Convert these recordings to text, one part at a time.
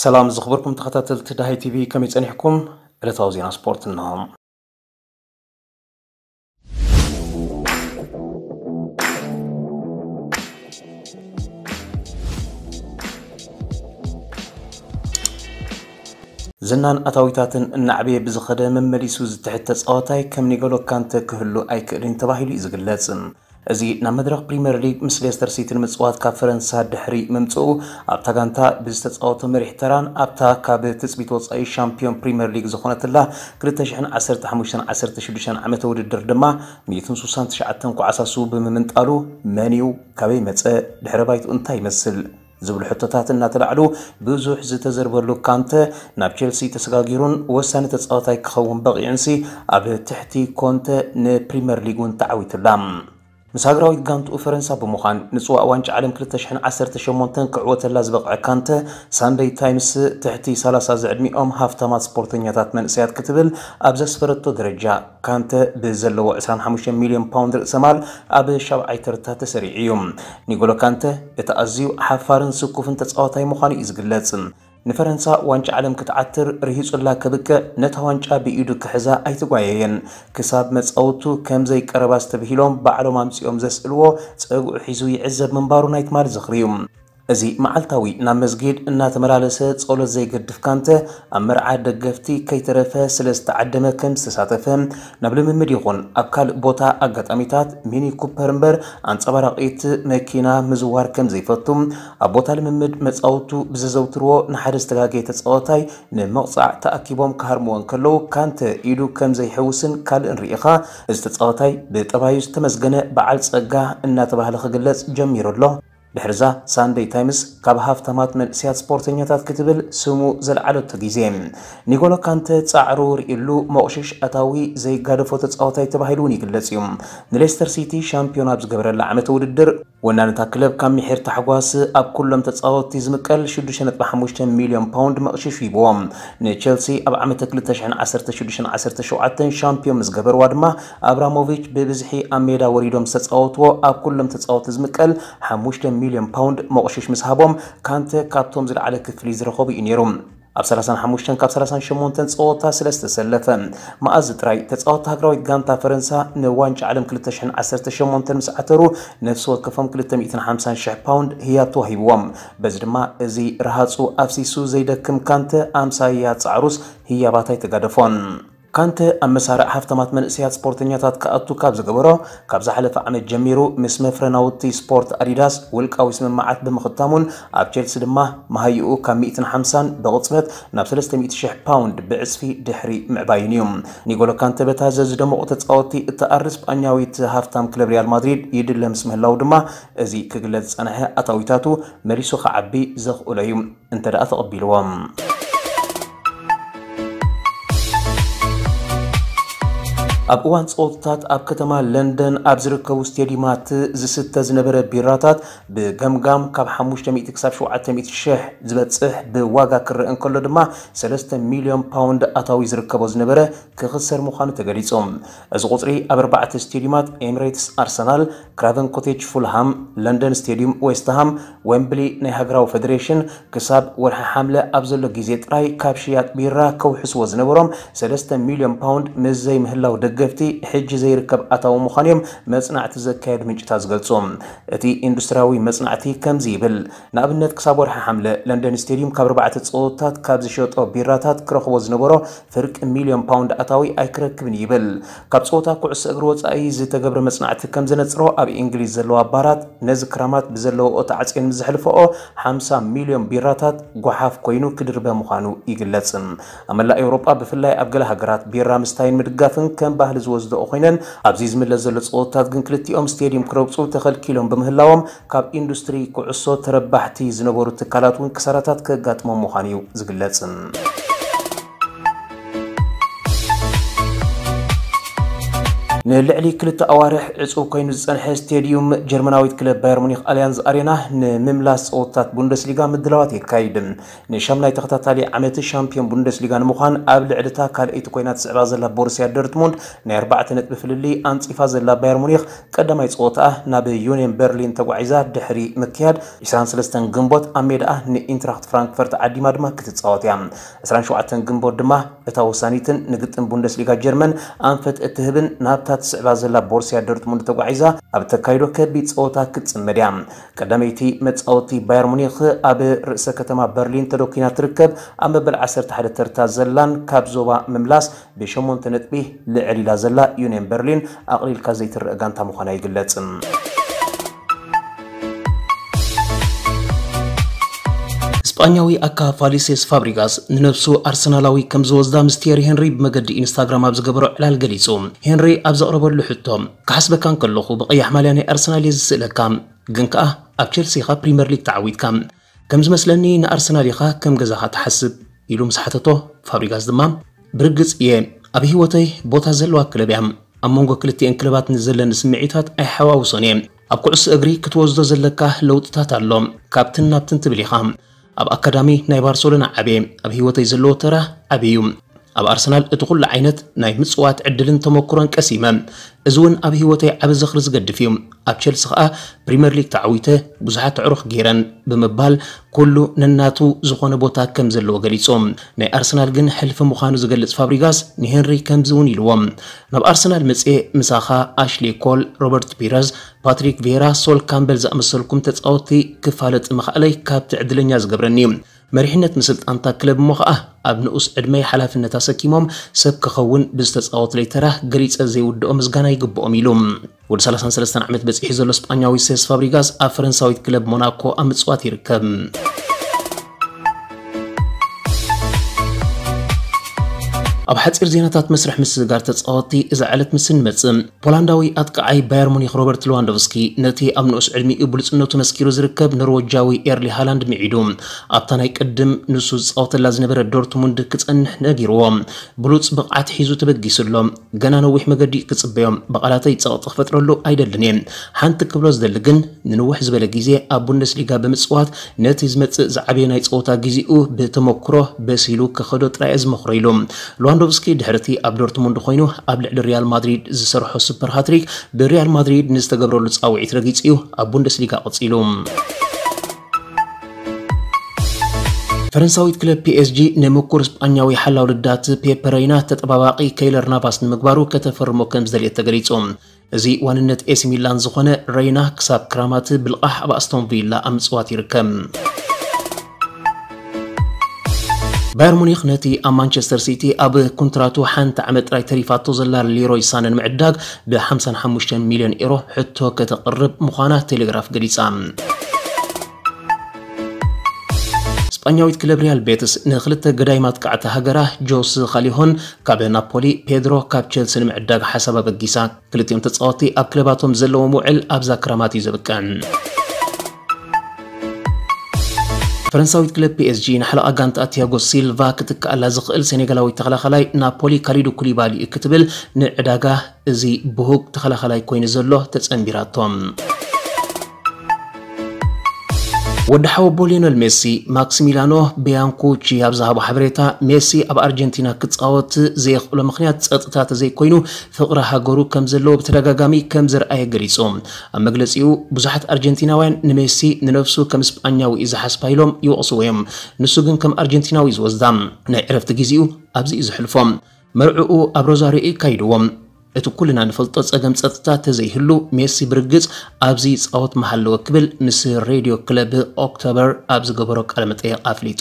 ሰላም ዝኽበርኩም ተኸታተልቲ ዳሃይ ቲቪ፣ ከመይ ጸኒሕኩም? ዕለታዊ ዜና ስፖርት እንሆ። ዝናን ኣታዊታትን እናዕበየ ብዝኸደ መመሊሱ ዝትሕት ተጻዋታይ ከም ኒጎሎ ካንተ ክህሉ ኣይክእልን ተባሂሉ እዩ ዝግለጽ። እዚ ናብ መድረኽ ፕሪምየር ሊግ ምስ ሌስተር ሲቲ ንምጽዋት ካብ ፈረንሳ ድሕሪ ምምጽኡ ኣብታ ጋንታ ብዝተጻወቶ መሪሕ ተራን ኣብታ ካብ ትጽቢት ወጻኢ ሻምፒዮን ፕሪምየር ሊግ ዝኾነትላ ክልተ ሽሕን ዓሰርተ ሓሙሽተን ዓሰርተ ሽዱሽተን ዓመተ ውድድር ድማ ሚእትን ስሳን ትሽዓተን ኳዕሳሱ ብምምንጣሉ መን እዩ፣ ካበይ መጸ፣ ድሕረ ባይትኡ እንታይ ይመስል ዝብሉ ሕቶታት እናተላዕሉ ብዙሕ ዝተዘርበሉ ካንተ ናብ ቼልሲ ተሰጋጊሩን ወሳኒ ተጻዋታይ ክኸውን በቒዑንሲ ኣብ ትሕቲ ኮንተ ንፕሪምየር ሊግ እውን ተዓዊቱላ። ምስ ሃገራዊት ጋንትኡ ፈረንሳ ብምዃን ንጽዋእ ዋንጫ ዓለም ክልተ ሽሕን ዓሰርተ ሸሞንተን ክዕወተላ ዝበቕዐ ካንተ ሳንደይ ታይምስ ትሕቲ ሰላሳ ዝዕድሚኦም ሃፍታማት ስፖርተኛታት መንእሰያት ክትብል ኣብ ዘስፈረቶ ደረጃ ካንተ ብዘለዎ ዕስራን ሓሙሽተን ሚልዮን ፓውንድ ርእሰ ማል ኣብ ሻብዓይ ተርታ ተሰሪዑ እዩ። ኒጎሎ ካንተ እቲ ኣዝዩ ሓፋርን ስኩፍን ተጻዋታይ ምዃኑ እዩ ዝግለጽ። ንፈረንሳ ዋንጫ ዓለም ክትዓትር ርሂጹላ ከብቅዕ ነታ ዋንጫ ብኢዱ ክሕዛ ኣይተጓየየን። ክሳብ መጻውቱ ከም ዘይቀረባ ዝተብሂሎም ባዕሎም ኣምጺኦም ዘስእልዎ ጸግዑ ሒዙ ይዕዘብ ምንባሩ ናይ ትማሊ ዝኽሪ እዩ። እዚ መዓልታዊ ናብ መስጊድ እናተመላለሰ ጸሎት ዘይገድፍ ካንተ ኣብ መርዓ ደገፍቲ ከይተረፈ ስለ ዝተዓደመ ከም ዝተሳተፈ ናብ ልምምድ ይኹን ኣብ ካልእ ቦታ ኣጋጣሚታት ሚኒ ኩፐር እምበር ኣንጸባራቒት መኪና ምዝዋር ከም ዘይፈቱ ኣብ ቦታ ልምምድ መጻውቱ ብዘዘውትርዎ ንሓደ ዝተጋገየ ተጻዋታይ ንምቕጻዕ ተኣኪቦም ክሃርምዎ እንከለዉ ካንተ ኢዱ ከም ዘይሕውስን ካልእን ርኢኻ እዚ ተጻዋታይ ብጠባዩ ዝተመስገነ በዓል ጸጋ እናተባህለ ክግለጽ ጀሚሩ ኣሎ። ድሕርዛ ሳንደይ ታይምስ ካብ ሃፍታማት መንእስያት ስፖርተኛታት ክትብል ስሙ ዘልዓለቶ ግዜ ኒጎሎ ካንተ ጻዕሩ ርእሉ መቑሽሽ ኣታዊ ዘይጋደፎ ተጻዋታይ ተባሂሉ እውን ይግለጽ እዩ። ንሌስተር ሲቲ ሻምፒዮን ኣብ ዝገበረላ ዓመተ ውድድር ወናንታ ክለብ ካብ ምሒር ታሕጓስ ኣብ ኩሎም ተጻወትቲ ዝምቀል ሽዱሽተ ነጥቢ ሓሙሽተ ሚልዮን ፓውንድ መቕሽሽ ሂብዎም። ንቸልሲ ኣብ ዓመተ ክልተ ሽሕን ዓሰርተ ሽዱሽተን ዓሰርተ ሸውዓተን ሻምፒዮን ምስ ገበርዋ ድማ ኣብራሞቪች ብብዝሒ ኣብ ሜዳ ወሪዶም ዝተጻወትዎ ኣብ ኩሎም ተጻወትቲ ዝምቀል ሓሙሽተ ሚልዮን ፓውንድ መቑሽሽ ምስ ሃቦም ካንተ ካብቶም ዝለዓለ ክፍሊ ዝረኸቡ እዩ ነይሩ። ኣብ ሰላሳን ሓሙሽተን ካብ ሰላሳን ሸሞንተን ጸወታ ስለ ዝተሰለፈ መኣዝ ጥራይ ተጻወትቲ ሃገራዊት ጋንታ ፈረንሳ ንዋንጫ ዓለም ክልተ ሽሕን ዓሰርተ ሸሞንተን ምስ ዓተሩ ነፍሲ ወከፎም ክልተ ሚእትን ሓምሳን ሽሕ ፓውንድ ህያብ ተዋሂብዎም። በዚ ድማ እዚ ረሃጹ ኣፍሲሱ ዘይደክም ካንተ ኣምሳያ ጻዕሩስ ህያባት ኣይተጋደፎን። ካንተ ኣብ መሳርዕ ሃፍታማት መንእሰያት ስፖርተኛታት ክኣቱ ካብ ዝገበሮ ካብ ዝሓለፈ ዓመት ጀሚሩ ምስ መፍረ ናውቲ ስፖርት ኣዲዳስ ውልቃዊ ስምምዓት ብምኽታሙን ኣብ ቼልሲ ድማ መሃይኡ ካብ ሚእትን ሓምሳን ብቕጽበት ናብ ሰለስተ ሚእቲ ሽሕ ፓውንድ ብዕጽፊ ድሕሪ ምዕባዩን እዩ። ኒጎሎ ካንተ በታ ዘዝደመቑ ተጻወትቲ እትኣሪ ስጳኛዊት ሃፍታም ክለብ ሪያል ማድሪድ ይድለ ምስ ምህላው ድማ እዚ ክግለጽ ዝጸንሐ ኣታዊታቱ መሊሱ ክዓቢ ዘኽእሎ እዩ። እንተ ደኣ ተቐቢልዎም። ኣብ እዋን ጸወታታት ኣብ ከተማ ለንደን ኣብ ዝርከቡ ስቴዲማት ዝስተ ዝነበረ ቢራታት ብገምጋም ካብ ሓሙሽተ ሚእቲ ክሳብ ሸውዓተ ሚእቲ ሽሕ ዝበጽሕ ብዋጋ ክረአ እንከሎ ድማ ሰለስተ ሚልዮን ፓውንድ ኣታዊ ዝርከቦ ዝነበረ ክኽሰር ምዃኑ ተገሊጹ። እዚ ቁጽሪ ኣብ ኣርባዕተ ስቴዲማት ኤምሬትስ፣ ኣርሰናል፣ ክራቨን ኮቴጅ፣ ፉልሃም፣ ለንደን ስቴዲዩም፣ ዌስትሃም፣ ዌምብሊ ናይ ሃገራዊ ፈደሬሽን ክሳብ ወርሒ ሓምለ ኣብ ዘሎ ግዜ ጥራይ ካብ ሽያጥ ቢራ ከውሕስዎ ዝነበሮም ሰለስተ ሚልዮን ፓውንድ ምስ ዘይምህላው ደገፍቲ ሕጂ ዘይርከብ ኣታዊ ምዃኑ እዮም መጽናዕቲ ዘካየዱ ምንጭታት ዝገልጹ። እቲ ኢንዱስትሪያዊ መጽናዕቲ ከምዚ ይብል። ንኣብነት ክሳብ ወርሒ ሓምለ ለንደን ስቴዲዩም ካብ ኣርባዕተ ጸወታት ካብ ዝሸጦ ቢራታት ክረኽቦ ዝነበሮ ፍርቂ ሚልዮን ፓውንድ ኣታዊ ኣይክረክብን ይብል። ካብ ጸወታ ኩዕሶ እግሪ ወጻኢ ዝተገብረ መጽናዕቲ ከም ዘነጽሮ ኣብ እንግሊዝ ዘለዋ ባራት ነዚ ክራማት ብዘለዎ ተዓጽዮን ምስ ዘሕልፈኦ ሓምሳ ሚልዮን ቢራታት ጓሓፍ ኮይኑ ክድርበ ምዃኑ ይግለጽ። ኣብ መላእ ኤውሮጳ ብፍላይ ኣብ ገለ ሃገራት ቢራ ምስታይን ምድጋፍን ከም ባህሊ ዝወስደኦ ኮይነን ኣብዚ ዝምለስ ዘሎ ጸወታት ግን ክልቲኦም ስቴዲየም ክረግጹ ተኸልኪሎም ብምህላዎም ካብ ኢንዱስትሪ ኩዕሶ ተረባሕቲ ዝነበሩ ትካላት እውን ክሳራታት ከጋጥሞም ምዃኑ እዩ ዝግለጽ። ንልዕሊ ክልተ ኣዋርሕ ዕጹው ኮይኑ ዝጸንሐ ስቴድዩም ጀርመናዊት ክለብ ባየር ሙኒክ ኣልያንዝ ኣሬና ንምምላስ ጸወታት ቡንደስሊጋ ምድላዋት የካይድ። ንሻምናይ ተኸታታሊ ዓመት ሻምፒዮን ቡንደስሊጋ ንምዃን ኣብ ልዕሊ እታ ካልኣይቲ ኮይና ትስዕባ ዘላ ቦሩስያ ዶርትሙንድ ናይ ኣርባዕተ ነጥቢ ፍልልይ ኣንጺፋ ዘላ ባየር ሙኒክ ቀዳማይ ጸወታኣ ናብ ዩኒየን በርሊን ተጓዒዛ ድሕሪ ምክያድ ዕስራን ሰለስተን ግንቦት ኣብ ሜዳኣ ንኢንትራክት ፍራንክፈርት ዓዲማ ድማ ክትጻወት እያ። ዕስራን ሸውዓተን ግንቦት ድማ እታ ወሳኒትን ንግጥም ቡንደስሊጋ ጀርመን ኣንፈት እትህብን ናብታ ትስዕባ ዘላ ቦርሲያ ዶርትሙንድ ተጓዒዛ ኣብ ተካይዶ ከቢድ ጸወታ ክትጽመድ እያ። ቀዳመይቲ መጻወቲ ባየር ሙኒክ ኣብ ርእሰ ከተማ በርሊን ተደኪና ትርከብ። ኣብ መበል ዓሰርተ ሓደ ተርታ ዘላን ካብ ዞባ ምምላስ ብሸሞንተ ነጥቢ ልዕል ኢላ ዘላ ዩኒየን በርሊን ኣቕሊልካ ዘይትረአ ጋንታ ምዃና ይግለጽ። ስጳኛዊ ኣካፋሊ ሴስ ፋብሪጋስ ንነብሱ ኣርሰናላዊ ከም ዝወስዳ ምስ ቲየሪ ሄንሪ ብመገዲ ኢንስታግራም ኣብ ዝገበሮ ዕላል ገሊጹ። ሄንሪ ኣብ ዘቕረበሉ ሕቶ፣ "ክሓስበካ እንከለኹ ብቐያሕ ማልያ ናይ ኣርሰናል እየ ዝስእለካ፣ ግን ከኣ ኣብ ቸልሲ ኢኻ ፕሪምየር ሊግ ተዓዊትካ። ከም ዝመስለኒ ንኣርሰናል ኢኻ ከም ገዛኻ ትሓስብ?" ኢሉ ምስ ሓተቶ፣ ፋብሪጋስ ድማ፣ "ብርግጽ እየ፣ ኣብ ህይወተይ ቦታ ዘለዋ ክለብ እያ። ኣብ መንጎ ክልቲኤን ክለባት ንዘለኒ ስምዒታት ኣይሓዋውሶን እየ። ኣብ ኩዕሶ እግሪ ክትወስዶ ዘለካ ለውጥታት ኣሎ። ካብትን ናብትን ትብል ኢኻ። ኣብ ኣካዳሚ ናይ ባርሰሎና ዓብየ፣ ኣብ ህይወተይ ዘለዎ ተራ ዓብዩ። ኣብ ኣርሰናል እቲ ኩሉ ዓይነት ናይ ምጽዋት ዕድልን ተመክሮን ቀሲመ። እዚ እውን ኣብ ህይወተይ ዓቢ ዝኽሪ ዝገድፍ እዩ። ኣብ ቸልሲ ከኣ ፕሪምየር ሊግ ተዓዊተ፣ ብዙሓት ኣዕሩኽ ገይረን" ብምባል ኩሉ ነናቱ ዝኾነ ቦታ ከም ዘለዎ ገሊጹ። ናይ ኣርሰናል ግን ሕልፊ ምዃኑ ዝገልጽ ፋብሪጋስ ንሄንሪ ከምዚ እውን ኢልዎ፣ "ናብ ኣርሰናል መጽየ ምሳኻ ኣሽሊ ኮል፣ ሮበርት ፒረዝ፣ ፓትሪክ ቬራ፣ ሶል ካምበል ዝኣመሰልኩም ተጻወትቲ ክፋለጥ ምኽኣለይ ካብቲ ዕድለኛ ዝገብረኒ እዩ። መሪሕነት ምስልጣንታ ክለብ እሞ ኸኣ ኣብ ንኡስ ዕድመይ ሓላፍነት ኣሰኪሞም ሰብ ክኸውን ብዝተጻወትለይ ተራ ገሊጸ ዘይውድኦ ምስጋና ይግብኦም" ኢሉ። ወዲ ሰላሳን ሰለስተን ዓመት በጺሑ ዘሎ ስጳኛዊ ሴስ ፋብሪጋስ ኣብ ፈረንሳዊት ክለብ ሞናኮ ኣብ ምጽዋት ይርከብ። ኣብ ሓጺር ዜናታት መስርሕ ምስግጋር ተጻወትቲ እዛ ዕለት ምስ እንመጽእ፣ ፖላንዳዊ ኣጥቃዓይ ባየር ሙኒክ ሮበርት ሌዋንዶቭስኪ ነቲ ኣብ ንኡስ ዕድሚኡ ብሉጽነቱ መስኪሩ ዝርከብ ኖርወጃዊ ኤርሊ ሃላንድ ምዒዱ ኣብታ ናይ ቅድም ንሱ ዝጻወተላ ዝነበረ ዶርትሙንድ ክጸንሕ ነጊርዎ። ብሉጽ ብቕዓት ሒዙ ተበጊሱ ኣሎ። ገና ነዊሕ መገዲ ክጽበዮ። ብቓላተይ ጸቕጢ ክፈጥረሉ ኣይደልን እየ። ሓንቲ ክብሎ ዝደሊ ግን፣ ንንውሕ ዝበለ ግዜ ኣብ ቡንደስሊጋ ብምጽዋት፣ ነቲ ዝመጽእ ዝዓበየ ናይ ጸወታ ግዜኡ ብተመክሮ በሲሉ ክኸዶ ጥራይ እየ ዝመኽሮ ኢሉ። ሌዋንዶቭስኪ ድሕሪ እቲ ኣብ ዶርትሙንድ ኮይኑ ኣብ ልዕሊ ሪያል ማድሪድ ዝሰርሖ ሱፐር ሃትሪክ፣ ብሪያል ማድሪድ ንዝተገብረሉ ጻውዒት ረጊጹ እዩ ኣብ ቡንደስሊጋ ቀጺሉ። ፈረንሳዊት ክለብ ፒ ኤስ ጂ ንምኩር ስጳኛዊ ሓላው ልዳት ፔፐ ረይና ተጠባባቒ ከይለር ናቫስ ንምግባሩ ከተፈርሞ ከም ዝደልየት ተገሊጹ። እዚ ዋንነት ኤሲ ሚላን ዝኾነ ረይና ክሳብ ክራማት ብልቓሕ ኣብ ኣስቶን ቪላ ኣብ ምጽዋት ይርከብ። ባየር ሙኒክ ነቲ ኣብ ማንቸስተር ሲቲ ኣብ ኮንትራቱ ሓንቲ ዓመት ጥራይ ተሪፋቶ ዘላ ሊሮይ ሳነ ንምዕዳግ ብ ሓምሳን ሓሙሽተን ሚልዮን ኤሮ ሕቶ ከተቕርብ ምዃና ቴሌግራፍ ገሊጻ። ስጳኛዊት ክለብ ሪያል ቤትስ ንክልተ ገዳይም ኣጥቃዕቲ ሃገራ ጆስ ካሊሆን ካብ ናፖሊ፣ ፔድሮ ካብ ቸልሲ ንምዕዳግ ሓሳብ ኣበጊሳ። ክልቲኦም ተጻወትቲ ኣብ ክለባቶም ዘለዎም ውዕል ኣብዛ ክረማት እዩ ዘብቅዕ። ፈረንሳዊት ክለብ ፒ ኤስ ጂ ንሓለቓ ጋንታ ቲያጎ ሲልቫ ክትከኣላ ዝኽእል ሴኔጋላዊ ተኸላኸላይ ናፖሊ ካሊዱ ኩሊባሊ እዩ ክትብል ንዕዳጋ እዚ ብሁግ ተኸላኸላይ ኮይኑ ዘሎ ተጸንቢራቶም። ወዲ ሓወቦ ሊዮነል ሜሲ ማክሲሚላኖ ቢያንኩቺ ኣብ ዝሃቦ ሓበሬታ፣ ሜሲ ኣብ ኣርጀንቲና ክጻወት ዘየኽእሎ ምኽንያት ጸጥታ ተዘይኮይኑ ፍቕሪ ሃገሩ ከም ዘለዎ ብተደጋጋሚ ከም ዘርኣየ ገሊጹ። ኣብ መግለጺኡ፣ ብዙሓት ኣርጀንቲናውያን ንሜሲ ንነፍሱ ከም ስጳኛዊ እዩ ዝሓስባ ኢሎም ይወቕስዎ እዮም። ንሱ ግን ከም ኣርጀንቲናዊ እዩ ዝወስዳ። ናይ ዕረፍቲ ግዜኡ ኣብዚ እዩ ዘሕልፎ። መርዕኡ ኣብ ሮዛሪዮ እዩ ኣካይድዎ። እቲ ኩልና ንፈልጦ ጸገም ጸጥታ ተዘይህሉ፣ ሜሲ ብርግጽ ኣብዚ ይጻወት ምሃለወ ክብል ምስ ሬድዮ ክለብ ኦክቶበር ኣብ ዝገበሮ ቃለ መጠይቕ ኣፍሊጡ።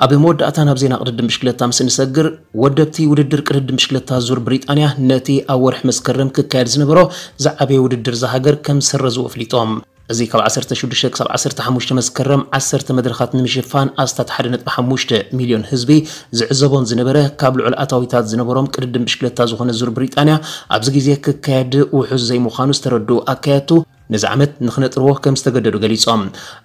ኣብ መወዳእታ ናብ ዜና ቅድድም ብሽክለታ ምስ እንሰግር፣ ወደብቲ ውድድር ቅድድም ብሽክለታ ዙር ብሪጣንያ ነቲ ኣብ ወርሒ መስከረም ክካየድ ዝነበሮ ዝዓበየ ውድድር እዛ ሃገር ከም ዝሰረዝዎ ኣፍሊጦም። እዚ ካብ ዓሰርተ ሽዱሽተ ክሳብ ዓሰርተ ሓሙሽተ መስከረም ዓሰርተ መድረኻት ንምሽፋን ኣስታት ሓደ ነጥቢ ሓሙሽተ ሚልዮን ህዝቢ ዝዕዘቦን ዝነበረ ካብ ልዑል ኣታዊታት ዝነበሮም ቅድድም ብሽክለታ ዝኾነ ዙር ብሪጣንያ ኣብዚ ግዜ ክካየድ ውሑስ ዘይምዃኑ ዝተረድኡ ኣካየድቱ ነዚ ዓመት ንክነጥርዎ ከም ዝተገደዱ ገሊጾም።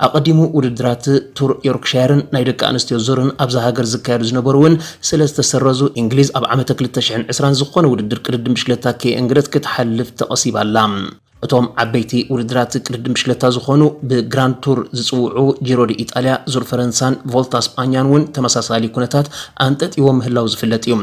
ኣቐዲሙ ውድድራት ቱር ዮርክሻየርን ናይ ደቂ ኣንስትዮ ዙርን ኣብዛ ሃገር ዝካየዱ ዝነበሩ እውን ስለ ዝተሰረዙ፣ እንግሊዝ ኣብ ዓመተ ክልተ ሽሕን ዕስራን ዝኾነ ውድድር ቅድድም ብሽክለታ ከየእንግደት ክትሓልፍ ተቐሲባ ኣላ። እቶም ዓበይቲ ውድድራት ቅድድም ብሽክለታ ዝኾኑ ብግራንድ ቱር ዝጽውዑ ጂሮ ዲ ኢጣልያ፣ ዙር ፈረንሳን ቮልታ ስጳኛን እውን ተመሳሳሊ ኩነታት ኣንጠጥይዎ ምህላው ዝፍለጥ እዩ።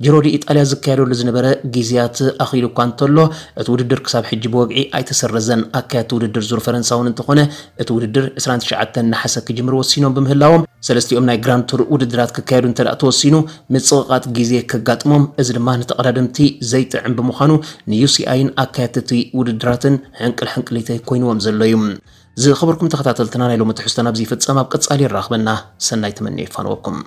ጂሮ ዲ ኢጣልያ ዝካየደሉ ዝነበረ ግዜያት ኣኺሉ እኳ እንተሎ፣ እቲ ውድድር ክሳብ ሕጂ ብወግዒ ኣይተሰረዘን። ኣካየድቲ ውድድር ዙር ፈረንሳ እውን እንተኾነ፣ እቲ ውድድር ዕስራን ትሽዓተን ነሓሰ ክጅምር ወሲኖም ብምህላዎም፣ ሰለስቲኦም ናይ ግራንድ ቱር ውድድራት ክካየዱ እንተ ደኣ ተወሲኑ፣ ምጽቕቓጥ ግዜ ከጋጥሞም፣ እዚ ድማ ንተቐዳደምቲ ዘይጥዕም ብምዃኑ፣ ንዩሲኣይን ኣካየድቲ ውድድራትን ሕንቅል ሕንቅሊተይ ኮይንዎም ዘሎ እዩ። ዝኸበርኩም ተኸታተልትና፣ ናይ ሎሚ ትሕዝቶና ኣብዚ ይፍጸም። ኣብ ቀጻሊ የራኽበና። ሰናይ ተመንየ ይፋነወኩም።